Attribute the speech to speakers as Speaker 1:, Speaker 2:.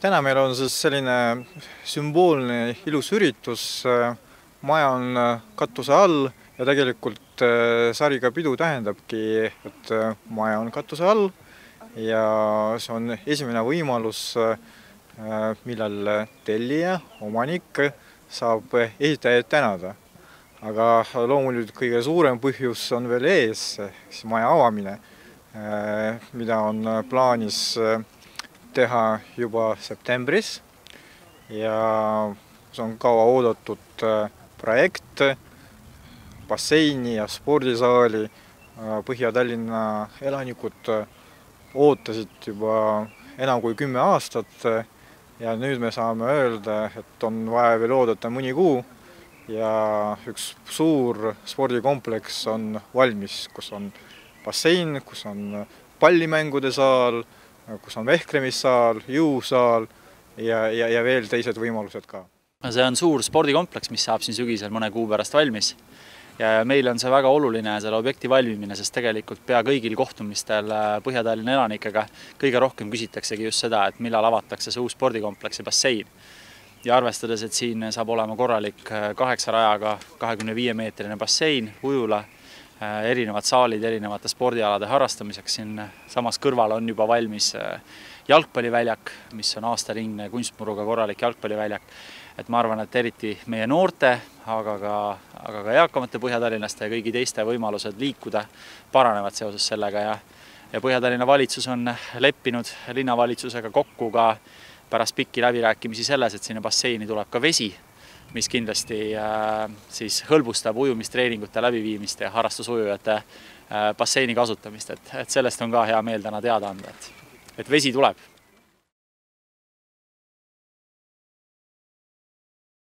Speaker 1: Täna meil on siis selline sümboolne ilus üritus. Maja on katuse all ja tegelikult sariga pidu tähendabki, et maja on katuse all ja see on esimene võimalus, millal tellija, omanik saab ehitajaid tänada. Aga loomulikult kõige suurem põhjus on veel ees, maja avamine, mida on plaanis teha juba septembris ja see on kaua oodatud projekt basseini ja spordisaali. Põhja-Tallinna elanikud ootasid juba enam kui 10 aastat ja nüüd me saame öelda, et on vaja veel oodata mõni kuu ja üks suur spordikompleks on valmis, kus on bassein, kus on pallimängude saal, kus on vehklemissaal, jõusaal ja veel teised võimalused ka.
Speaker 2: See on suur spordikompleks, mis saab siin sügisel mõne kuu pärast valmis. Ja meil on see väga oluline selle objekti valmimine, sest tegelikult pea kõigil kohtumistel Põhja-Tallinna elanikega kõige rohkem küsitaksegi just seda, et millal avatakse see uus spordikompleks ja bassein. Ja arvestades, et siin saab olema korralik 8 rajaga 25-meetrine bassein, ujula, erinevad saalid erinevate spordialade harrastamiseks. Siin samas kõrval on juba valmis jalgpalliväljak, mis on aastaringne kunstmuruga korralik jalgpalliväljak. Et ma arvan, et eriti meie noorte, aga ka eakamate Põhja-Tallinlaste ja kõigi teiste võimalused liikuda paranevad seoses sellega. Ja Põhja-Tallinna valitsus on leppinud linnavalitsusega kokku ka pärast pikki läbirääkimisi selles, et sinna basseini tuleb ka vesi, mis kindlasti siis hõlbustab ujumistreeningute läbiviimist ja harrastusujujate basseini kasutamist. Et sellest on ka hea meel täna teada anda, et vesi tuleb.